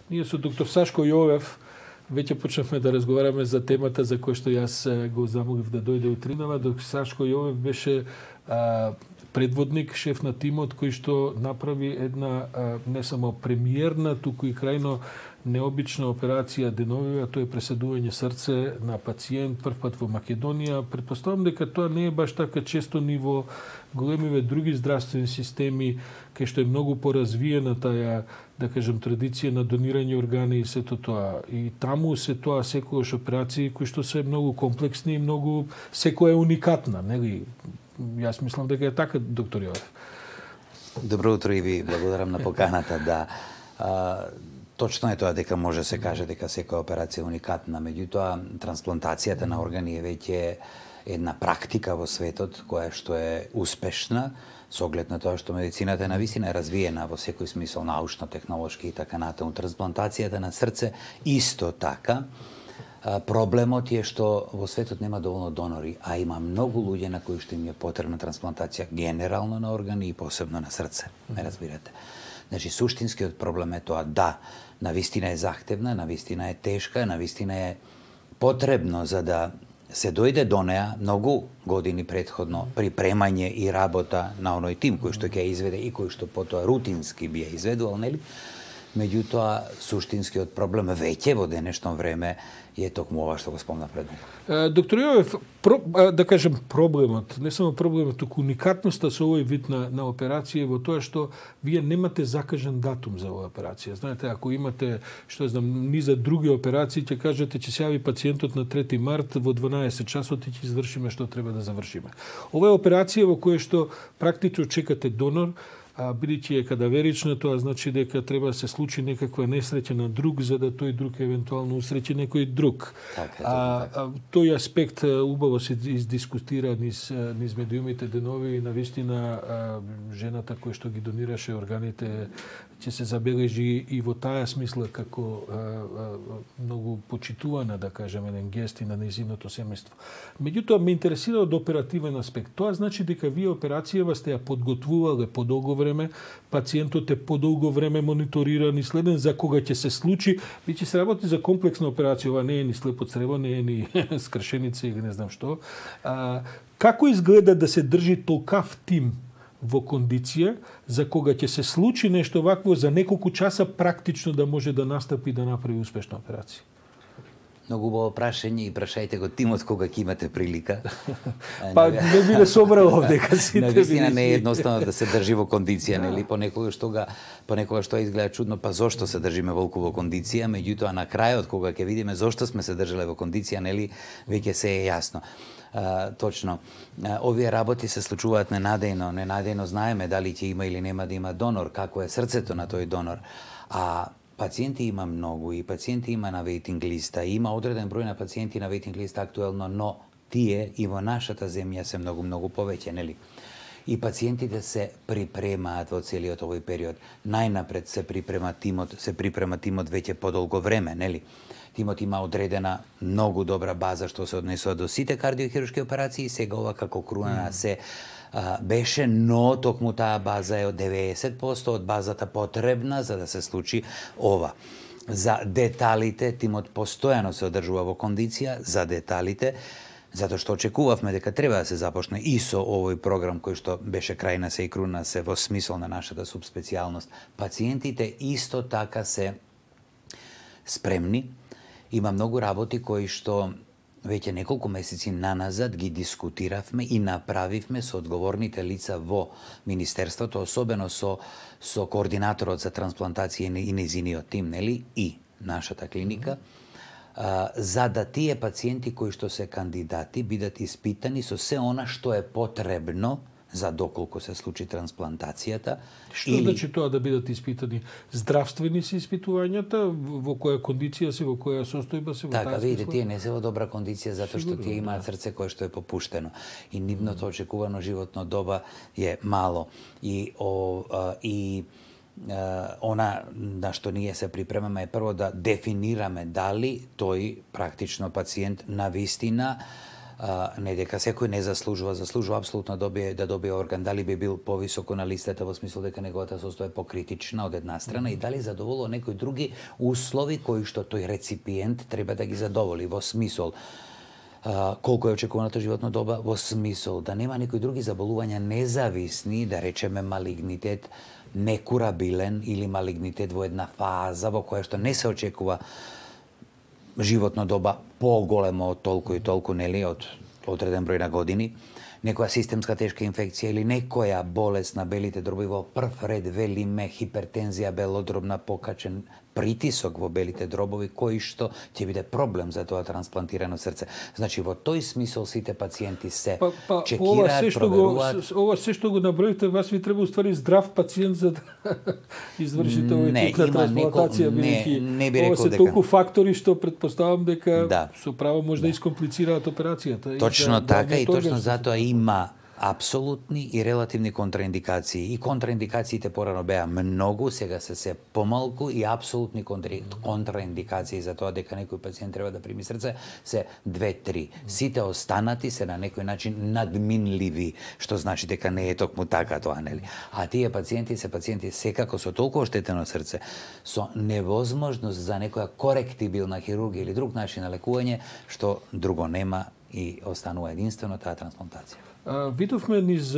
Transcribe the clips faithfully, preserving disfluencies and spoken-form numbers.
Ние со доктор Сашко Јовев веќе почнавме да разговараме за темата за која што јас го замолив да дојде утринава. Доктор Сашко Јовев беше а, предводник, шеф на тимот кој што направи една а, не само премиерна, туку и крајно необична операција деновива, тоа е преседување срце на пациент прв пат во Македонија. Претпоставам дека тоа не е баш така често ни во големиве други здравствени системи, кај што е многу поразвиена таа, да кажем, традиција на донирање органи и сето тоа. И таму се тоа секогаш операции кои што се многу комплексни и многу секоја е уникатна, нели? Јас мислам дека е така, доктор Јовев. Добро утро и ви благодарам на поканата. Да. А, точно е тоа дека може се каже дека секоја операција е уникатна, меѓутоа трансплантацијата на органи е веќе една практика во светот која што е успешна со оглед на тоа што медицината е навистина е развиена во секој смисол, научно, технолошки и така натаму. Трансплантацијата на срце исто така. Проблемот е што во светот нема доволно донори, а има многу луѓе на кои што им е потребна трансплантација генерално на органи и посебно на срце. Ме разбирате? Значи, суштинскиот проблем е тоа да, навистина е захтевна, навистина е тешка, навистина е потребно за да се дојде до неа многу години претходно припремање и работа на оној тим кој што ќе ја изведе и кој што потоа рутински би ја изведувал, нели? Меѓутоа, суштинскиот проблем веќе во денешно време е токму ова што го спомна пред него. Доктор Јовев, про, да кажем проблемот, не само проблемот, туку уникатноста со овој вид на, на операција во тоа што вие немате закажан датум за оваа операција. Знаете, ако имате, што знам, низа други операции, ќе кажете ќе се јави пациентот на трети март во дванаесет часот и ќе извршиме што треба да завршиме. Ова е операција во која што практично чекате донор, а бидејќи е кадаверична, тоа значи дека треба да се случи некаква несреќа на друг за да тој друг евентуално усреќи некој друг. Така, а, а тој аспект убаво се издискутира низ низ медиумите денови и навистина жената која што ги донираше органите ќе се забележи и во таа смисла како а, а, многу почитувана, да кажеме, еден гест и на нејзиното семејство. Меѓутоа ме интересира од оперативен аспект. Тоа значи дека вие операцијава сте ја подготвувале подолго време, пациентот е подолго време мониториран и следен за кога ќе се случи, бидејќи се работи за комплексна операција, ова не е ни слепо црево, не е ни скршеница или не знам што. А, како изгледа да се држи толкав тим во кондиција за кога ќе се случи нешто вакво за неколку часа практично да може да настапи да направи успешна операција? Многу убаво прашање и прашајте го тимот кога ќе имате прилика. Па не биде собрал овдека сите. Навистина не е едноставно да се држи во кондиција, нели? Понекогаш тоа понекогаш тоа изгледа чудно, па зошто се држиме волку во кондиција, меѓутоа на крајот кога ќе видиме зошто сме се држале во кондиција, нели, веќе се е јасно. А, точно. А, овие работи се случуваат ненадејно, ненадејно знаеме дали ќе има или нема да има донор, како е срцето на тој донор. А пациенти има многу и пациенти има на вейтинг листа, има одреден број на пациенти на вейтинг листа актуелно, но тие и во нашата земја се многу многу повеќе, нели? И пациентите се припремаат во целиот овој период. Најнапред се припрема тимот, се припрема тимот веќе подолго време, нели? Тимот има одредена многу добра база што се однесува до сите кардиохируршки операции, сега ова како круна се а, беше, но токму таа база е од деветдесет проценти од базата потребна за да се случи ова. За деталите, тимот постојано се одржува во кондиција, за деталите, затоа што очекувавме дека треба да се започне и со овој програм кој што беше крајна се и круна се во смисол на нашата субспецијалност. Пациентите исто така се спремни. Има многу работи кои што веќе неколку месеци наназад ги дискутиравме и направивме со одговорните лица во Министерството, особено со, со координаторот за трансплантација и нејзиниот тим, нели, и нашата клиника, а, за да тие пациенти кои што се кандидати бидат испитани со се она што е потребно за доколку се случи трансплантацијата. Што или... значи тоа да бидат испитани? Здравствени се испитувањата, во која кондиција се, во која состојба се? Така, видите, тие не се во добра кондиција затоа што тие имаат срце кое што е попуштено и нивното очекувано животно доба е мало и о, а, и а, она на што ние се припремаме е прво да дефинираме дали тој практично пациент на вистина а, не дека секој не заслужува, заслужува апсолутно да добие, да добие орган, дали би бил повисоко на листата во смисла дека неговата состоја покритична од една страна и дали задоволува некои други услови кои што тој реципиент треба да ги задоволи, во смисол Uh, колку е очекуваната животна доба, во смисол да нема некои други заболувања независни, да речеме малигнитет некурабилен или малигнитет во една фаза во која што не се очекува животна доба поголемо од толку и толку, нели, од одреден број на години, некоја системска тешка инфекција или некоја болест на белите дробови, во прв ред велиме хипертензија белодробна, покачен притисок во белите дробови, кој што ќе биде проблем за тоа трансплантирано срце. Значи, во тој смисол сите пациенти се па, па, чекираат, ова се што проверуваат. Го, ова се што го наброите, вас ви треба уствари здрав пациент за да извршите овој тип на трансплантација, бидејќи не би ова рекол се дека толку фактори што предпоставам дека да. со право може да, да искомплицираат операцијата. Точно да, така да, и точно затоа има апсолутни и релативни контраиндикации. И контраиндикациите порано беа многу, сега се се помалку и апсолутни контра... контраиндикации за тоа дека некој пациент треба да прими срце се две-три. Сите останати се на некој начин надминливи, што значи дека не е токму така тоа, нели? А тие пациенти се пациенти секако со толку оштетено срце, со невозможност за некоја коректибилна хирургија или друг начин на лекување, што друго нема и останува единствено таа трансплантација. А, видовме низ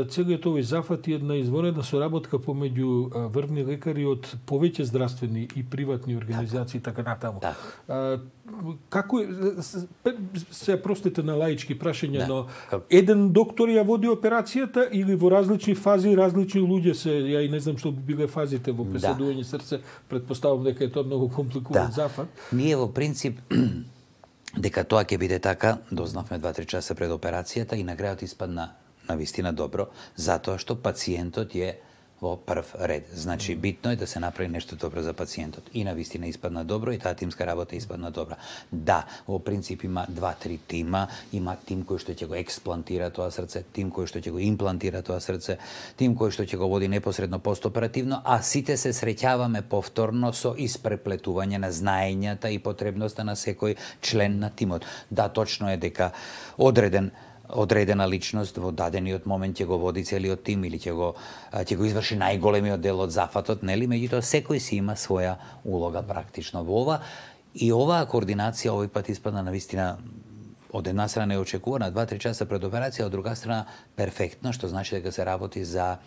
целиот овој зафат и една изворена соработка помеѓу врвни лекари од повеќе здравствени и приватни организации, така натаму. Да. А, како се простите на лаички прашања, да. Но Как... еден доктор ја води операцијата или во различни фази различни луѓе се, ја и не знам што би биле фазите во преседување да. Срце, предпоставам дека е тоа многу компликуван да. Зафат. Ние во принцип дека тоа ќе биде така, дознавме два-три часа пред операцијата и на крајот испадна навистина добро, затоа што пациентот е во прв ред. Значи, битно е да се направи нешто добро за пациентот. И навистина испадна добро, и таа тимска работа испадна добра. Да, во принцип има два-три тима, има тим кој што ќе го експлантира тоа срце, тим кој што ќе го имплантира тоа срце, тим кој што ќе го води непосредно постоперативно, а сите се среќаваме повторно со испреплетување на знаењата и потребноста на секој член на тимот. Да, точно е дека одреден одредена личност во дадениот момент ќе го води целиот тим или ќе го ќе го изврши најголемиот дел од зафатот, нели? Меѓутоа секој си има своја улога практично во ова и оваа координација овој пат испадна навистина од една страна неочекувана, два-три часа пред операција, од друга страна перфектно, што значи дека се работи за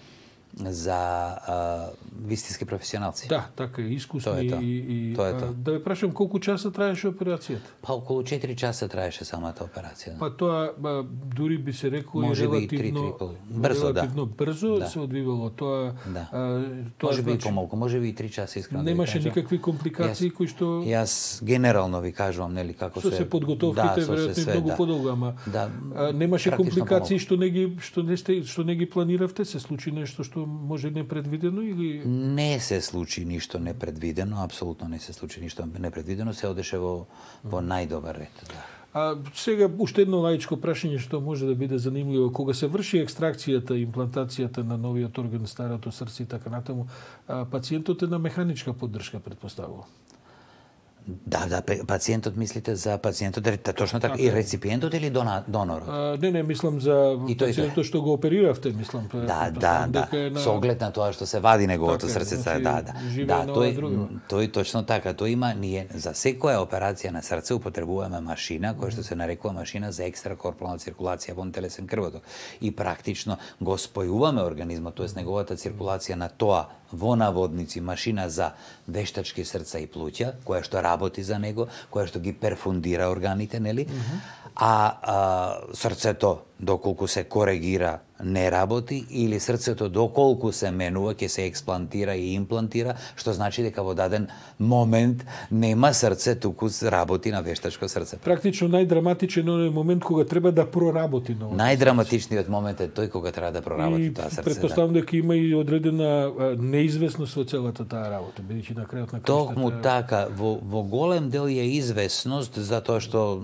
за а, вистински професионалци. Да, така е, искусни тоа е тоа. и, и тоа е тоа. А, да ве прашам колку часа траеше операцијата? Па околу четири часа траеше самата операција. Па тоа ба, дури би се рекло може релативно би и три, три, брзо, релативно да. брзо да. се одвивало тоа. Да. А, тоа може би значи, и помалку, може би и три часа искрено. Немаше да никакви компликации јас, кои што Јас генерално ви кажувам, нели, како со се се подготовките да, веројатно многу да. подолго, ама да, а, немаше компликации помалку. што не ги што не сте што не ги планиравте, се случи нешто што може непредвидено или не се случи ништо непредвидено, апсолутно не се случи ништо непредвидено, се одеше во во најдобар ред, да. А сега уште едно лаичко прашање што може да биде занимливо, кога се врши екстракцијата, имплантацијата на новиот орган, старото срце и така натаму, а, пациентот е на механичка поддршка, претпоставувам. Да, да, пациентот мислите за пациентот, точно така, и реципиентот или дона, донорот? А, не, не, мислам за и тој, пациентот што го опериравте, мислам. Да, да, да. На... Со оглед на тоа што се вади неговото така, срце, значи, да, да. Да, тој, тој точно така, тој има ние за секоја операција на срце употребуваме машина која што се нарекува машина за екстракорпорална циркулација во телесен крвоток. И практично го спојуваме организмот, тоест неговата циркулација на тоа во наводници машина за вештачки срца и плуќа, која што работи за него, која што ги перфундира органите, нели? Mm -hmm. А, а срцето доколку се коригира не работи или срцето доколку се менува ќе се експлантира и имплантира, што значи дека во даден момент нема срце, туку работи на вештачко срце. Практично најдраматичен е момент кога треба да проработи новото. Најдраматичниот момент е тој кога треба да проработи и тоа срце. Претпоставам да. дека има и одредена неизвестност во целата таа работа, бидејќи на крајот на крајштата. Токму така, во во голем дел е известност затоа што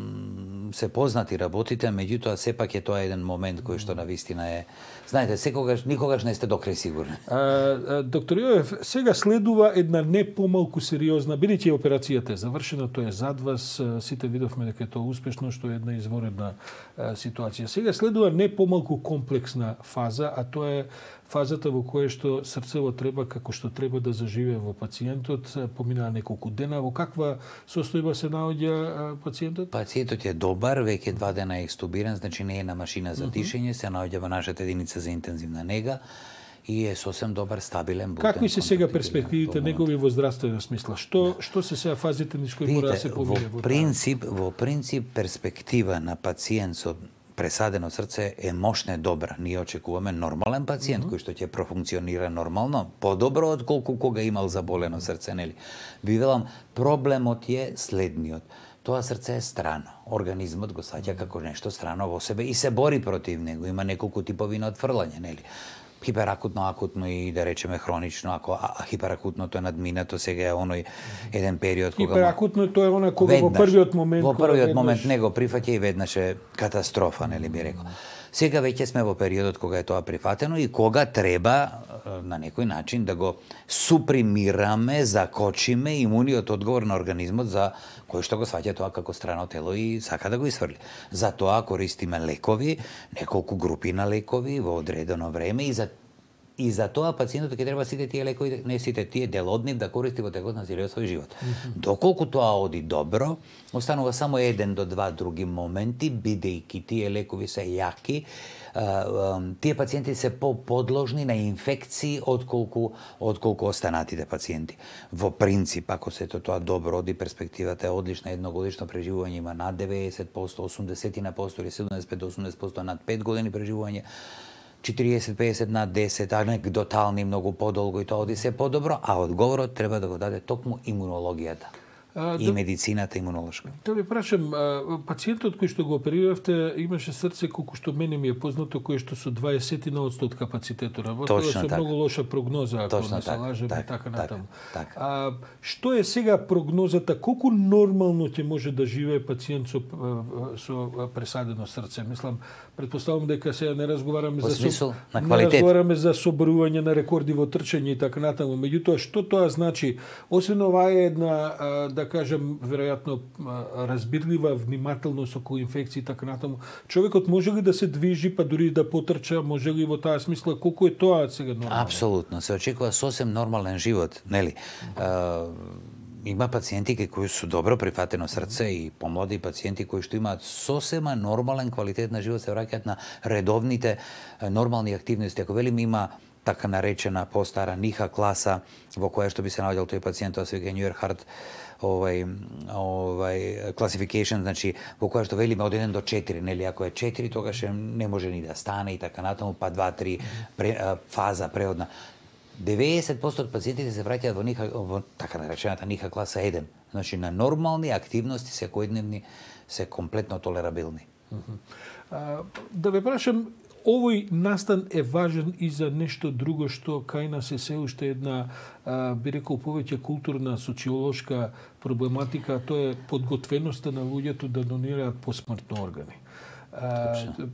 се познати работите, меѓутоа сепак е тоа еден момент кој што навистина е. Знаете, секогаш никогаш не сте докрај сигурни. А, а, доктор Јовев, сега следува една не помалку сериозна, бидејќи операцијата е завршена, тоа е зад вас, сите видовме дека е тоа успешно, што е една изворедна а, ситуација. Сега следува не помалку комплексна фаза, а тоа е фазата во која што срцево треба како што треба да заживее во пациентот, поминаа неколку дена. Во каква состојба се наоѓа пациентот? Пациентот е добар, веќе два дена е екстубиран, значи не е на машина за дишење, се наоѓа во нашата единица за интензивна нега и е сосем добар, стабилен, буден. Какви се сега перспективите негови во здравствено смисла? Што што се сега фазите низ кои мора да се помине во принцип, во принцип перспектива на пациент со пресадено срце е мощно добра. Ние очекуваме нормален пациент mm -hmm. кој што ќе профункционира нормално, подобро отколку кога имал заболено срце, нели? Ви велам, проблемот е следниот. Тоа срце е страно. Организмот го саќа како нешто страно во себе и се бори против него. Има неколку типови на отфрлање, нели? Хиперакутно, акутно и да речеме хронично, ако а, хиперакутното е надминато, сега е оној еден период кога хиперакутно тоа е она кога веднаш, во првиот момент во првиот момент веднаш... него прифаќа и веднаш е катастрофа, нели би рекол. Сега веќе сме во периодот кога е тоа прифатено и кога треба на некој начин да го супримираме, закочиме имуниот одговор на организмот за кој што го сваќа тоа како страно тело и сака да го исфрли. Затоа користиме лекови, неколку групи на лекови во одредено време и за И за тоа пациентот ќе треба сите тие лекови, не сите тие дел од нив да користи во текот на целиот свој живот. Mm -hmm. Доколку тоа оди добро, останува само еден до два други моменти, бидејќи тие лекови се јаки, тие пациенти се по-подложни на инфекции отколку отколку останатите пациенти. Во принцип, ако сето тоа добро оди, перспективата е одлична, едногодишно преживување има над деветдесет проценти, осумдесет на проценти или седумдесет до осумдесет проценти над пет години преживување. четириесет до пеесет над десет, анекдотални многу подолго и тоа оди се подобро, а одговорот треба да го даде токму имунологијата. А, и да, медицината имунолошка. Да ви прашам, пациентот кој што го опериравте имаше срце колку што мене ми е познато, кој што со дваесет одсто од капацитетот работело со така. Многу лоша прогноза, ако Точно не се лажем и так, така натаму. Так, так. А што е сега прогнозата, колку нормално ќе може да живее пациент со со пресадено срце? Мислам, претпоставувам дека сега не разговараме По за смисол, со... на квалитет. Не разговараме за соборување на рекорди во трчање и така натаму. Меѓутоа, што тоа значи? Освен ова е една, да кажем, веројатно разбирлива внимателност околу инфекции и така натаму. Човекот може ли да се движи, па дури да потрча, може ли во таа смисла, колку е тоа сега нормално? Апсолутно, се очекува сосем нормален живот, нели? Uh, има пациенти кои се добро прифатено срце и помлади пациенти кои што имаат сосема нормален квалитет на живот, се враќаат на редовните нормални активности. Ако велим има така наречена постара ниха класа во која што би се наоѓал тој пациент, тоа се вика New Heart овај овај classification, значи во која што велиме од еден до четири, нели, ако е четири тогаш не може ни да стане и така натаму, па два три фаза преодна. деветдесет проценти од пациентите се враќаат во ниха, во така наречената ниха класа еден. Значи на нормални активности секојдневни се комплетно толерабилни. Uh -huh. а, да ве прашам, овој настан е важен и за нешто друго што кај нас е се уште една, а, би рекол, повеќе културна, социолошка проблематика, а тоа е подготвеноста на луѓето да донираат посмртно органи.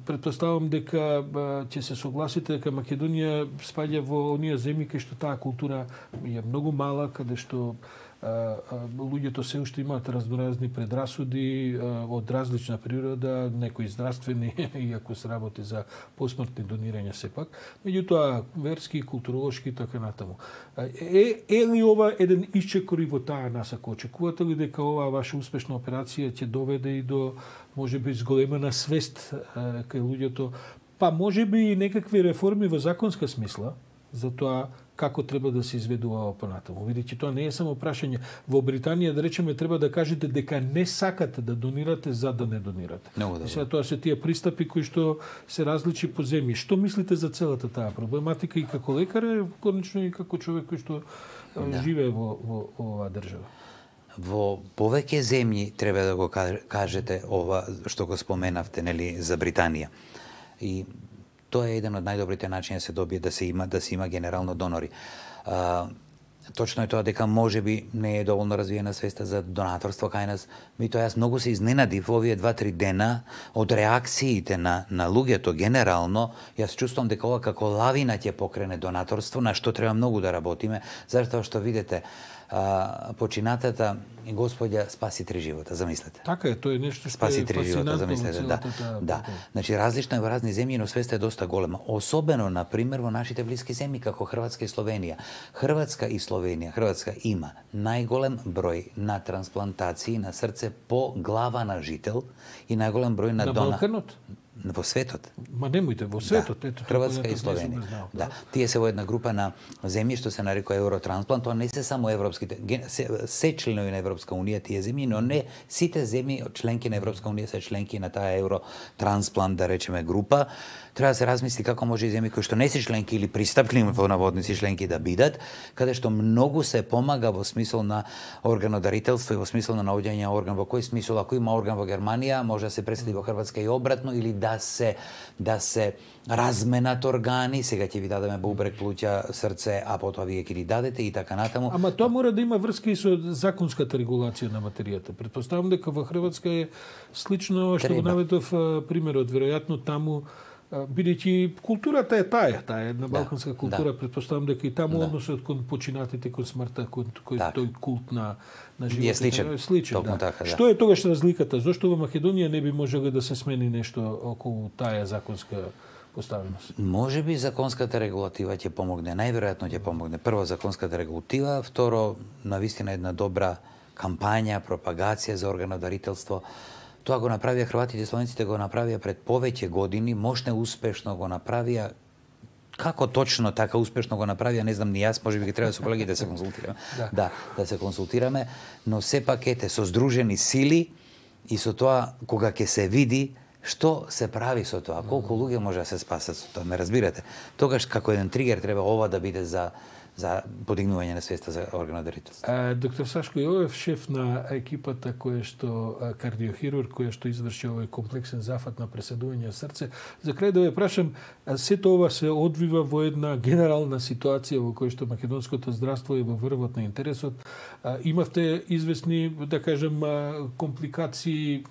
Претпоставам дека ќе се согласите дека Македонија спаѓа во оние земји кај што таа култура е многу мала, каде што луѓето се уште имаат разноразни предрасуди од различна природа, некои здравствени, иако се работи за посмртни донирања сепак, меѓутоа верски, културолошки и така натаму. Е, е ли ова еден исчекор и во таа насака? Очекувате ли дека оваа ваша успешна операција ќе доведе и до можеби зголемена свест кај луѓето, па можеби и некакви реформи во законска смисла за тоа како треба да се изведува ова понатаму. Видите, тоа не е само прашање. Во Британија, да речеме, треба да кажете дека не сакате да донирате за да не донирате. И сега тоа се тие пристапи кои што се различи по земји. Што мислите за целата таа проблематика и како лекар, конечно и како човек кој што да. живее во, во, во оваа држава? Во повеќе земји треба да го кажете ова што го споменавте, нели, за Британија. И тоа е еден од најдобрите начини да се добие да се има да се има генерално донори. А, точно е тоа дека можеби не е доволно развиена свеста за донаторство кај нас. Меѓутоа јас многу се изненадив овие два-три дена од реакциите на на луѓето генерално. Јас чувствувам дека ова како лавина ќе покрене донаторство, на што треба многу да работиме, затоа што видите, а, починатата господја спаси три живота, замислете. Така е, тоа е нешто што спаси е три живота, замислете, да. Да. Значи различно е во разни земји, но свеста е доста голема. Особено на пример во нашите блиски земји како Хрватска и Словенија. Хрватска и Словенија, Хрватска има најголем број на трансплантации на срце по глава на жител и најголем број на, на дона Балканот? Во светот. Ма немојте, во светот, да. ето Хрватска и Словенија. Да. Тие се во една група на земји што се нарекува Евротрансплант, тоа не се само европските, се, се членови на Европска унија тие земји, но не сите земји членки на Европска унија се членки на таа Евротрансплант, да речеме, група. Треба да се размисли како може и земји кои што не се членки или пристапни во наводници членки да бидат, каде што многу се помага во смисол на органодарителство и во смисол на наоѓање орган. Во кој смисол, ако има орган во Германија, може да се преседи во Хрватска и обратно, или да се да се разменат органи, сега ќе ви дадеме бубрек, плуќа, срце, а потоа вие ќе ги дадете и така натаму. Ама тоа мора да има врска и со законската регулација на материјата. Претпоставам дека во Хрватска е слично што го наведов примерот, веројатно таму бидејќи културата е таа, таа е една балканска да, култура, да. Претпоставам дека и таму да. Односот кон починатите, кон смртта, кон кој так. Тој култ на на животот е сличен. Е сличен, да. Така, да. Што е тогаш разликата? Зошто во Македонија не би можело да се смени нешто околу таа законска поставеност? Може би законската регулатива ќе помогне, најверојатно ќе помогне. Прво законската регулатива, второ навистина една добра кампања, пропагација за органодарителство. Тоа го направија хрватите и словенците, го направија пред повеќе години, можне успешно го направија. Како точно така успешно го направија, не знам ни јас, можеби ќе треба со колегите да се консултираме. да. да, да се консултираме, но сепак ете со здружени сили и со тоа кога ќе се види што се прави со тоа, колку луѓе може да се спасат со тоа, ме разбирате? Тогаш како еден тригер треба ова да биде за за подигнување на свеста за органодарителство. Доктор Сашко Јовев, шеф на екипата која што кардиохирург, која што изврши овој комплексен зафат на преседување срце, за крај да ве прашам, сето ова се одвива во една генерална ситуација во која што македонското здравство е во врвот на интересот. Имавте известни, да кажем, компликации,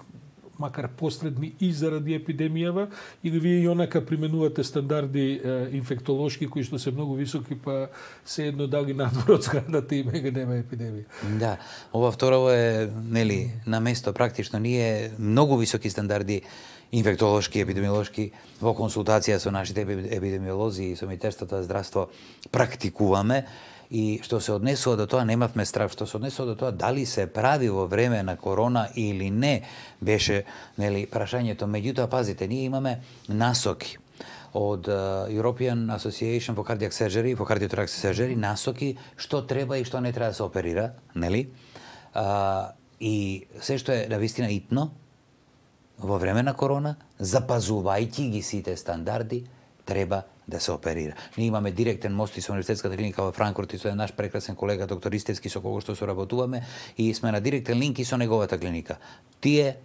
макар посредни и заради епидемијава, или вие и онака применувате стандарди е, инфектолошки кои што се многу високи, па се едно дали надвор од зградата и мега нема епидемија? Да, ова второ е, нели, на место практично. Ние многу високи стандарди инфектолошки, епидемиолошки во консултација со нашите епидемиолози и со Министерството за здравство практикуваме. И што се однесува до тоа, немавме страв. Што се однесува до тоа, дали се прави во време на корона или не, беше, нели, прашањето. Меѓутоа, пазите, ние имаме насоки од uh, European Association for Cardiac Surgery, for Cardiothoracic Surgery, насоки што треба и што не треба да се оперира, нели? Uh, и се што е навистина итно во време на корона, запазувајќи ги сите стандарди, треба да се оперира. Ние имаме директен мост и со универзитетската клиника во Франкфурт и со наш прекрасен колега доктор Истевски со кого што соработуваме и сме на директен линк и со неговата клиника. Тие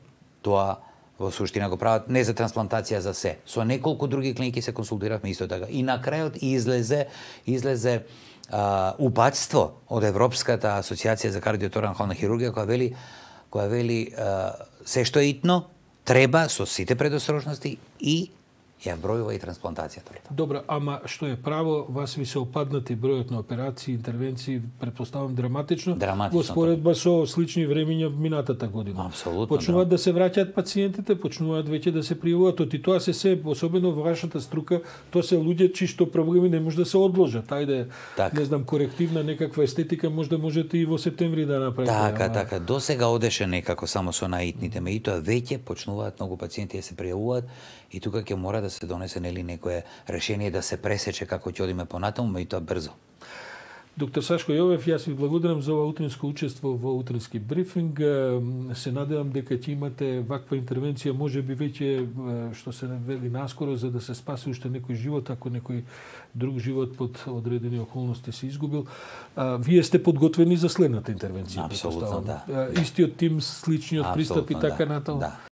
тоа во суштина го прават не за трансплантација за се. Со неколку други клиники се консултиравме исто така. И на крајот излезе излезе а, упатство од Европската асоциација за кардиоторакална хирургија која вели која вели а, се што е итно треба со сите предосторожности и ја бројува и трансплантацијата. Добро, ама што е право, вас ви се опаднати бројот на операции, интервенции, претпоставам драматично, драматично во споредба со слични времиња минатата година. Апсолутно. Почнуваат да. да се враќаат пациентите, почнуваат веќе да се пријавуваат, и тоа се се, особено во вашата струка, тоа се луѓе чии што проблеми не може да се одложат. Ајде, так. Не знам, корективна некаква естетика можда можете и во септември да направите. Така, ама... така. До сега одеше некако само со наитните, меѓутоа веќе почнуваат многу пациенти да се пријавуваат и тука ќе мора да се донесе нели некое решение да се пресече како ќе одиме понатаму, меѓутоа брзо. Доктор Сашко Јовев, јас ви благодарам за ова утринско учество во утрински брифинг. Се надевам дека ќе имате ваква интервенција, може би веќе што се вели наскоро, за да се спаси уште некој живот, ако некој друг живот под одредени околности се изгубил. Вие сте подготвени за следната интервенција? Апсолутно, да. Истиот тим, сличниот пристап и така да, натаму? Да.